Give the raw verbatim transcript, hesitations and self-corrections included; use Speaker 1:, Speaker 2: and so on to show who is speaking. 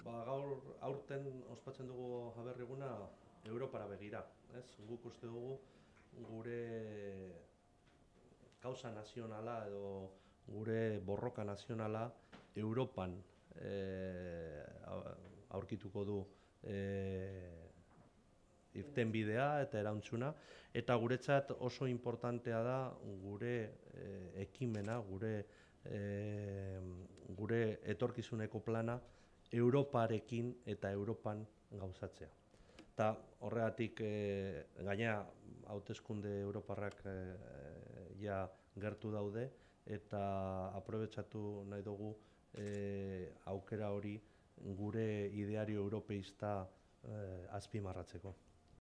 Speaker 1: Ba, gaur aurten ospatzen dugu Aberri-eguna Europara begira, ez? Guk uste dugu gure kausa nazionala edo gure borroka nazionala Europan e, aurkituko du e, irtenbidea eta erantzuna, eta guretzat oso importantea da gure e, ekimena, gure e, gure etorkizuneko plana Europarekin eta Europan gauzatzea. Eta horregatik e, gainera hauteskunde europarrak e, ja gertu daude eta aprobetxatu nahi dugu e, aukera hori gure ideario europeista e, azpimarratzeko.